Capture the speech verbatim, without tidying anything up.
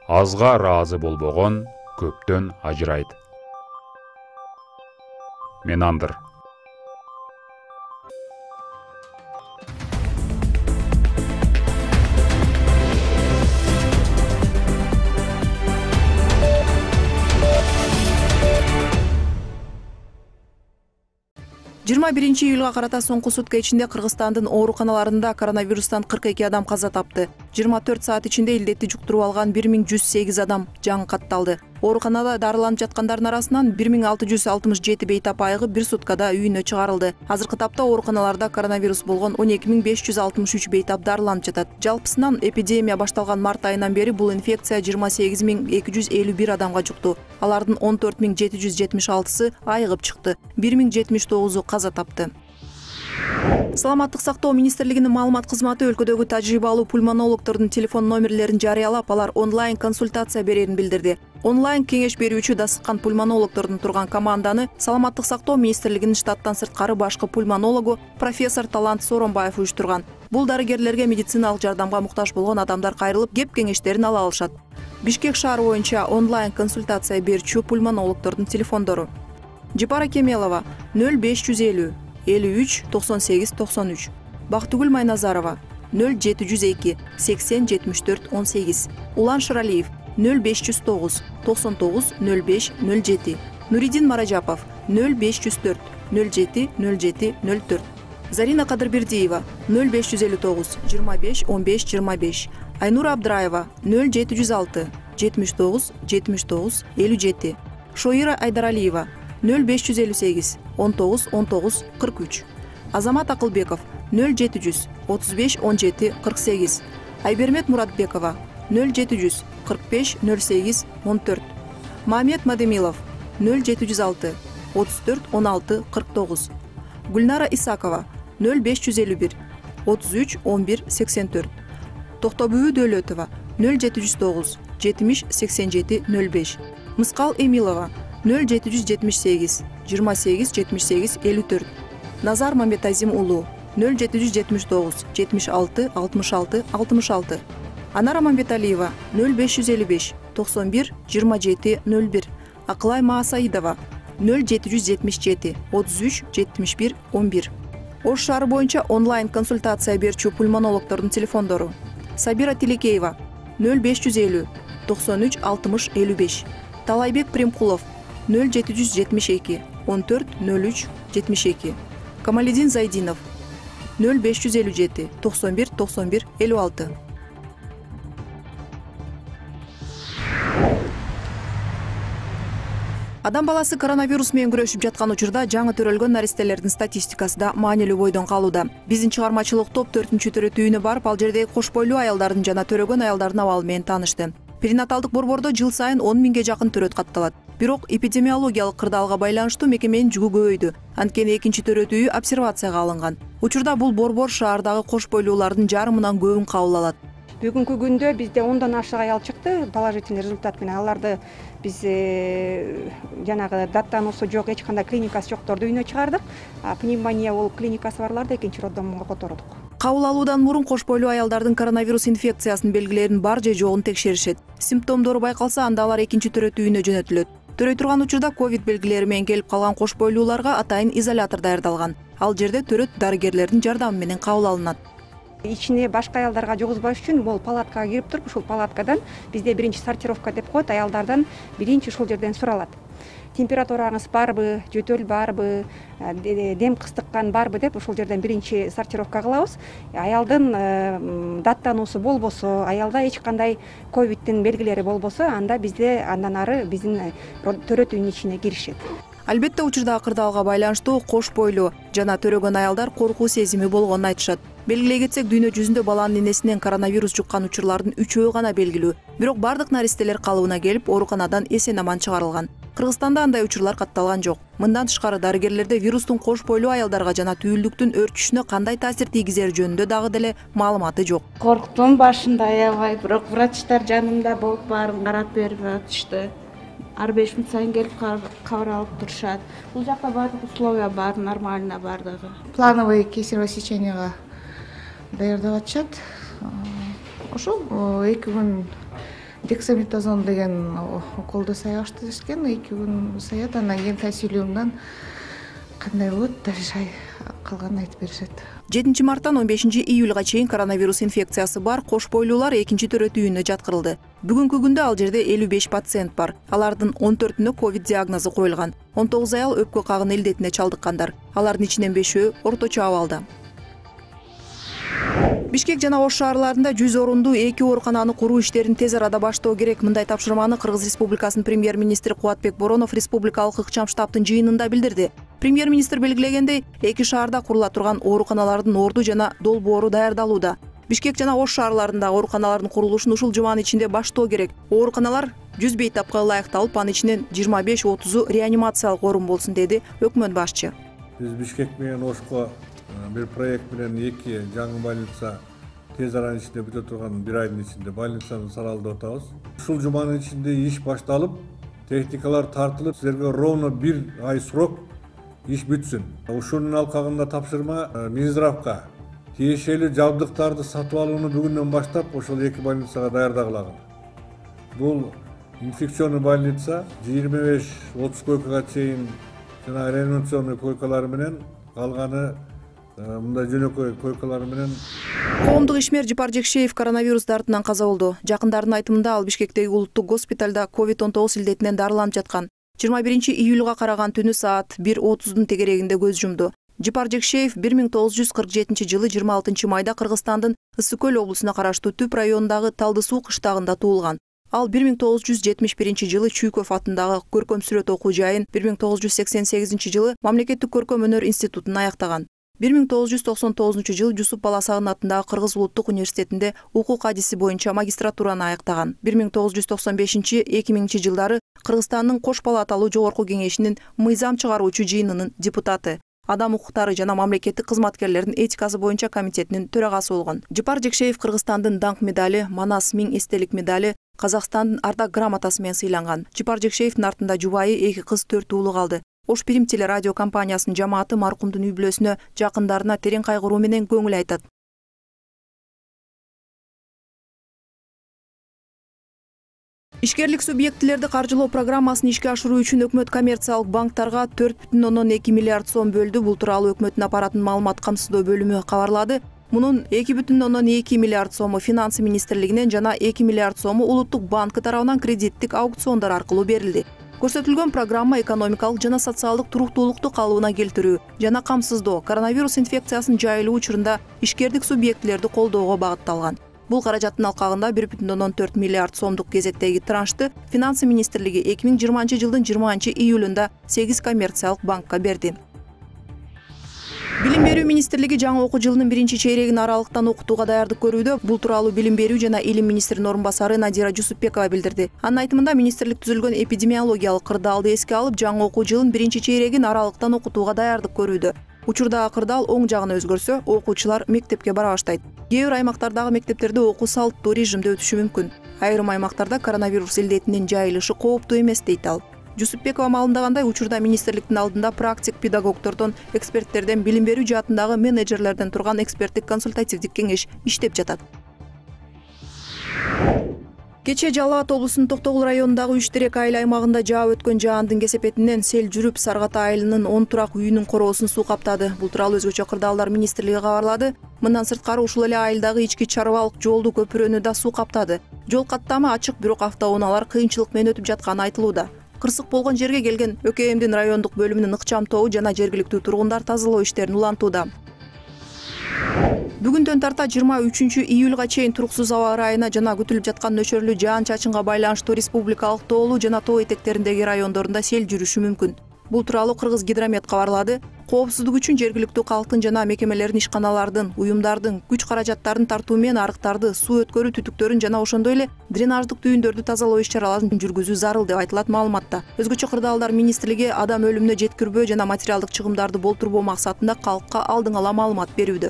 Азга ыраазы болбогон көптөн ажырайт. Менандыр. жыйырма биринчи июлга карата соңку сутка ичинде Кыргызстандын ооруканаларында коронавирустан кырк эки адам каза тапты. жыйырма төрт саат ичинде илдетти жуктуруп алган бир миң жүз сегиз адам жаңы катталды. Ооруканада дарыланып жаткандардын арасынан бир миң алты жүз алтымыш жети бейтап айыгы бир суткада үйүнө чыгарылды. Азыркы тапта ооруканаларда коронавирус болгон он эки миң беш жүз алтымыш үч бейтап дарыланып жатат. Жалпысынан эпидемия башталган март айынан бери бул инфекция жыйырма сегиз миң эки жүз элүү бир адамга жукту. Алардын он төрт миң жети жүз жетимиш алтысы айыгып чыкты. бир миң жетимиш тогузу каза тапты. Саламаттык сактоо министрлигинин маалымат кызматы өлкөдөгү тажрыйбалуу пульмонологдордун телефон номерлерин жарыялап, алар онлайн консультация берерин билдирди. Онлайн кеңеш берүүчү дасыккан пульмонологдордун турган команданы Саламаттык сактоо министрлигинин штаттан сырткары башкы пульмонологу профессор Талант Сооронбаев уюштурган. Бул дарыгерлерге медициналык жардамга муктаж болгон адамдар кайрылып, кеп кеңештерин ала алышат. Бишкек шаары боюнча онлайн консультация берүүчү пульмонологдордун телефондору: Жапара Кемелова нөл беш жүз элүү элүү үч токсон сегиз токсон үч, Бактыгүл Майназарова нөл жети жүз эки сексен жетимиш төрт он сегиз, Улан Шыралиев нөл беш жүз тогуз токсон тогуз нөл беш нөл жети, Нуридин Маражапов нөл беш жүз төрт нөл жети нөл жети нөл төрт, Зарина Кадырбердиева нөл беш жүз элүү тогуз жыйырма беш он беш жыйырма беш, Айнура Абдыраева нөл жети жүз алты жетимиш тогуз жетимиш тогуз элүү жети, Шоира Айдаралиева нөл беш жүз элүү сегиз он тогуз он тогуз кырк үч, Азамат Акылбеков нөл жети жүз отуз беш он жети кырк сегиз, Айбермет Муратбекова нөл жети жүз кырк беш нөл сегиз он төрт, Мамед Мадемилов нөл жети жүз алты отуз төрт он алты кырк тогуз, Гүлнара Исакова нөл беш жүз элүү бир отуз үч он бир сексен төрт, Токтобүбү Дөөлөтова нөл жети жүз тогуз жетимиш сексен жети нөл беш, Мыскал Эмилова нөл жети жүз жетимиш сегиз жыйырма сегиз жетимиш сегиз элүү төрт, Назар Мамбетазим уулу нөл жети жүз жетимиш тогуз жетимиш алты алтымыш алты алтымыш алты, Анара Мамбеталиева нөл беш жүз элүү беш токсон бир жыйырма жети нөл бир, Акылай Маасаидова нөл жети жүз жетимиш жети отуз үч жетимиш бир он бир. Ош шаары боюнча онлайн консультация берүүчү пульмонологдордун телефондору: Сабира Тилекеева нөл беш жүз элүү токсон үч алтымыш элүү беш, Талайбек Примкулов нөл жети жүз жетимиш эки он төрт нөл үч жетимиш эки, Камалидин Зайдинов нөл беш жүз элүү жети токсон бир токсон бир элүү алты. Адам баласы коронавирус менен күрөшүп жаткан учурда жаңы төрөлгөн наристелердин статистикасы да маанилүү бойдон калууда. Биздин чыгармачылык топ төртүнчү төрөтүү үйүнө барып, ал жердеги кош бойлуу аялдардын жана төрөгөн аялдардын абалы менен таанышты. Перинаталдык борбордо жыл сайын он миңге жакын төрөт катталат. Бирок эпидемиологиялык кырдаалга байланыштуу мекеменин жүгү көбөйдү. Анткени экинчи төрөтүү үй обсервацияга алынган. Учурда бул борбор шаардагы кош бойлуулардын жарымынан көбүн кабыл алат. Бүгүнкү күндө бизде ондон ашык аял чыкты положительный результат менен. Аларды биз жанагы даттануусу жок, эч кандай клиникасы жокторду үйүнө чыгардык. Пневмония болуп клиникасы барларды экинчи роддомго котордук. Кабыл алуудан мурун кош бойлуу аялдардын коронавирус инфекциясынын белгилерин бар же жогун текшеришет. Симптомдору байкалса, анда алар экинчи төрөтүү үйүнө жөнөтүлөт. Төрөй турган учурда ковид белгилери менен келип калган кош бойлууларга атайын изолятор даярдалган. Ал жерде төрөт дарыгерлердин жардамы менен кабыл алынат. Ичине башка аялдарга жугузбаш үчүн бул палаткага кирип туруп, ушул палаткадан бизде биринчи сортировка деп коет, аялдардан биринчи ушул жерден суралат. Температураңыз барбы, жөтөл барбы, дем кыстыккан барбы деп ушул жерден биринчи сортировка кылабыз. Аялдын даттануусу болбосо, аялда эч кандай ковидтин белгилери болбосо, анда бизде андан ары биздин төрөт үйүнүн ичине киришет. Албетте учурдагы кырдаалга байланыштуу кош бойлуу жана төрөгөн аялдар коркуу сезими болгонун айтышат. Белгилей кетсек, дүйнө жүзүндө баланын энесинен коронавирус жуккан учурлардын үчөө гана белгилүү. Бирок бардык наристелер калыбына келип, ооруканадан эсен аман чыгарылган. Кыргызстанда андай учурлар катталган жок. Мындан тышкары дарыгерлерде вирустун кош бойлуу аялдарга жана түйүлдүктүн өрчүшүнө кандай таасир тийгизери жөнүндө дагы деле маалыматы жок. Корктум башында аябай, бирок врачтар жанымда болуп баарын карап берип атышты. Ар беш мүнөт сайын келип кабар алып турушат. Бул жакта баардык условия бар, нормально бардыгы. Плановый кесарево сечениега даярдап атышат. Ошол эки күн дексаметазон деген уколду саябашты дешкен, эки күн саят, анан кийин консилиумдан кандай болот даже калганын айтып беришет. жетинчи марттан он бешинчи июлга чейин коронавирус инфекциясы бар кош бойлуулар экинчи төрөт үйүнө жаткырылды. Бүгүнкү күндө ал жерде элүү беш пациент бар. Алардын он төртүнө ковид диагнозу коюлган. он тогуз аял өпкө кагын илдетине чалдыккандар. Алардын ичинен бешөө орточо абалда. Бишкек жана Ош шаарларында жүз орундуу эки оорукананы куруу иштерин тез арада баштоо керек. Мындай тапшырманы Кыргыз Республикасынын премьер-министри Кубатбек Боронов республикалык ыкчам штабтын жыйынында билдирди. Премьер-министр белгилегендей, эки шаарда курула турган ооруканалардын орду жана долбоору даярдалууда. Бишкек жана Ош шаарларындагы ооруканалардын курулушун ушул жуманын ичинде баштоо керек. Ооруканалар жүз бейтапка ылайыкталып, анын ичинен жыйырма беш отузу реанимациялык орун болсун, деди өкмөт башчы. Биз Бишкек менен Ошко бир проект менен эки жаңы больница тез аранын ичинде бүтө турган бир айдын ичинде больницаны салалдап атабыз. Ушул жуманын ичинде иш башталып, техникалар тартылып, силерге ровно бир ай срок иш бүтсүн. Ушунун алкагында тапшырма Минздравга тиешелүү жабдыктарды сатып алууну бүгүндөн баштап ошол эки больницага даярдагылагын. Бул инфекционный больница жыйырма беш отуз койкага чейин жана реанимационный койкалары менен, калганы мындай жөнөкөй койкалары менен. Коомдук ишмер Жыпар Жекшеев коронавирус дартынан каза болду. Жакындардын айтымында ал Бишкектеги улуттук госпиталда ковид он тогуз илдетинен дарыланып жаткан. жыйырма биринчи июлга караган түнү саат бир отуздун тегерегинде көз жумду. Жыпар Жекшеев бир миң тогуз жүз кырк жетинчи жылы жыйырма алтынчы майда Кыргызстандын Ысык көл облусуна караштуу Түп районундагы Талды суу кыштагында туулган. Ал бир миң тогуз жүз жетимиш биринчи жылы Чүйкөв атындагы көркөм сүрөт окуу жайын, бир миң тогуз жүз сексен сегизинчи жылы Мамлекеттик көркөм өнөр институтун аяктаган. бир миң тогуз жүз токсон тогузунчу жылы Жусуп Баласагын атындагы Кыргыз улуттук университетинде укук адиси боюнча магистратураны аяктаган. бир миң тогуз жүз токсон бешинчи — эки миңинчи жылдары Кыргызстандын Кош палаталуу жогорку кеңешинин мыйзам чыгаруучу жыйынынын депутаты, адам укуктары жана мамлекеттик кызматкерлердин этикасы боюнча комитетинин төрагасы болгон. Жыпар Жекшеев Кыргызстандын даңк медали, Манас миң эстелик медали, Казакстандын ардак грамотасы менен сыйланган. Жыпар Жекшеевдин артында жубайы, эки кыз, төрт уулу калды. Ош Пирим телерадио компаниясынын жамааты маркумдун үй бүлөсүнө, жакындарына терең кайгыруу менен көңүл айтат. Ишкерлик субъектилерди каржылоо программасын ишке ашыруу үчүн өкмөт коммерциялык банктарга төрт бүтүн ондон эки миллиард сом бөлдү. Бул тууралуу өкмөттүн аппараттын маалымат камсыздоо бөлүмү кабарлады. Мунун эки бүтүн ондон эки миллиард сому Финансы министрлигинен жана эки миллиард сому Улуттук банкы тарабынан кредиттик аукциондар аркылуу берилди. Көрсөтүлгөн программа экономикалык жана социалдык туруктуулукту калыбына келтирүү жана камсыздоо, коронавирус инфекциясынын жайылуу учурунда ишкердик субъектилерди колдоого багытталган. Бул каражаттын алкагында бир бүтүн ондон төрт миллиард сомдук кезектеги траншты Финансы министрлиги эки миң жыйырманчы жылдын жыйырманчы июлунда сегиз коммерциялык банкка берди. Билим берүү министрлиги жаңы окуу жылынын биринчи чейрегин аралыктан окутууга даярдык көрүүдө. Бул тууралуу Билим берүү жана илим министринин орун басары Надира Жусупбекова билдирди. Анын айтымында министрлик түзүлгөн эпидемиологиялык кырдаалды эске алып, жаңы окуу жылын биринчи чейрегин аралыктан окутууга даярдык көрүүдө. Учурдагы кырдаал оң жагына өзгөрсө, окуучулар мектепке бара баштайт. Кээ бир аймактардагы мектептерде окуу салттуу режимде өтүшү мүмкүн. Айрым аймактарда коронавирус илдетинин жайылышы кооптуу эмес, дейт ал. Жусупбекова маалымдагандай, учурда министрликтин алдында практик педагогдордон, эксперттерден, билим берүү жаатындагы менеджерлерден турган эксперттик консультативдик кеңеш иштеп жатат. Кечээ Жалал Абад облусунун Токтогул районундагы Үч Терек айыл аймагында жаап өткөн жаандын кесепетинен сел жүрүп, Саргата айылынын он турак үйүнүн короосун суу каптады. Бул тууралуу Өзгөчө кырдаалдар министрлиги кабарлады. Мындан сырткары ушул эле айылдагы ички чарбалык жолду көпүрөнү да суу каптады. Жол каттамы ачык, бирок автоунаалар кыйынчылык менен өтүп жатканы айтылууда. Кырсык болгон жерге келген ӨКМдин райондук бөлүмүнүн ыкчам тобу жана жергиликтүү тургундар тазалоо иштерин улантууда. Бүгүндөн тарта жыйырма үчүнчү июлга чейин туруксуз аба ырайына жана күтүлүп жаткан нөчөрлүү жаан-чачынга байланыштуу республикалык тоолуу жана тоо этектериндеги райондорунда сел жүрүшү мүмкүн. Бул тууралуу Кыргыз гидромет кабарлады. Коопсуздук үчүн жергиликтүү калктын жана мекемелердин, ишканалардын, уюмдардын күч каражаттарын тартуу менен арыктарды, суу өткөрүү түтүктөрүн жана ошондой эле дренаждык түйүндөрдү тазалоо иш-чараларын жүргүзүү зарыл деп айтылат маалыматта. Өзгөчө кырдаалдар министрлиги адам өлүмүнө жеткирбөө жана материалдык чыгымдарды болтурбоо максатында калкка алдын ала маалымат берүүдө.